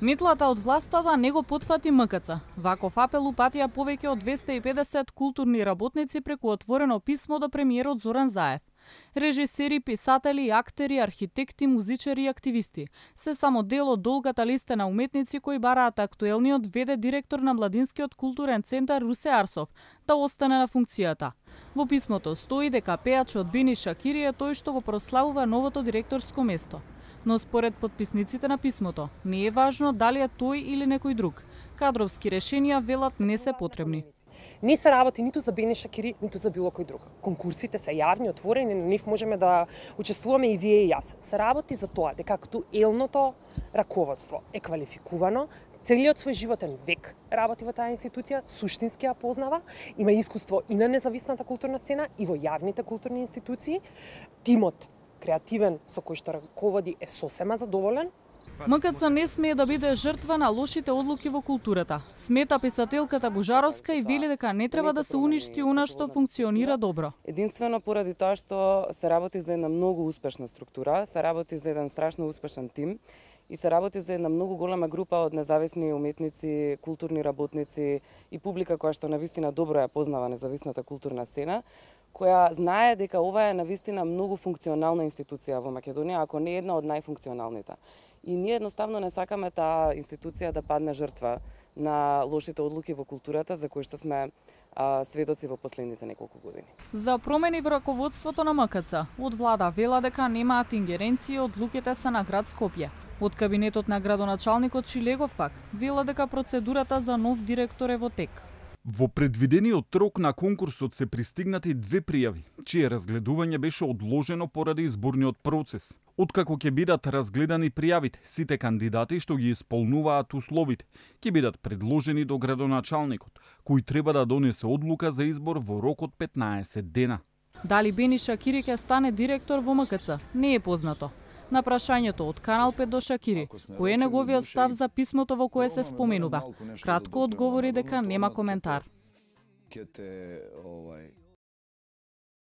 Метлата од властата не го потфати МКЦ. Ваков апел упатија повеќе од 250 културни работници преку отворено писмо до премиерот Зоран Заев. Режисери, писатели, актери, архитекти, музичари и активисти се само дел од долгата листа на уметници кои бараат актуелниот ВД директор на Младинскиот културен центар Русе Арсов да остане на функцијата. Во писмото стои дека пејачот Бени Шакири е тој што го прославува новото директорско место. Но според подписниците на писмото, не е важно дали е тој или некој друг. Кадровски решенија, велат, не се потребни. Не се работи ниту за Бени Шакири, ниту за било кој друг. Конкурсите се јавни, отворени, на нив можеме да учествуваме и вие и јас. Се работи за тоа дека актуелното раководство е квалификувано, целиот свој животен век работи во таа институција, суштински ја познава, има искуство и на независната културна сцена, и во јавните културни институции. Тимот креативен со кој што раководи е сосема задоволен. МКЦ не смее да биде жртва на лошите одлуки во културата. Смета писателката Бужаровска и вели дека не треба да се уништи она што функционира добро. Единствено поради тоа што се работи за една многу успешна структура, се работи за еден страшно успешен тим и се работи за една многу голема група од независни уметници, културни работници и публика која што навистина добро ја познава независната културна сцена, која знае дека ова е навистина многу функционална институција во Македонија, ако не една од најфункционалните. И ние едноставно не сакаме таа институција да падне жртва на лошите одлуки во културата за кои што сме сведоци во последните неколку години. За промени во раководството на МКЦ, од влада вела дека немаат ингеренции, одлуките се на град Скопје. Од кабинетот на градоначалникот Шилегов пак вела дека процедурата за нов директор е во тек. Во предвидениот рок на конкурсот се пристигнати 2 пријави, чие разгледување беше одложено поради изборниот процес. Откако ќе бидат разгледани пријавите, сите кандидати што ги исполнуваат условите ќе бидат предложени до градоначалникот, кој треба да донесе одлука за избор во рок од 15 дена. Дали Бени Шакири ќе стане директор во МКЦ, не е познато. На прашањето од Канал 5 до Шакири, кој е неговиот став за писмото во кое се споменува, кратко одговори дека нема коментар.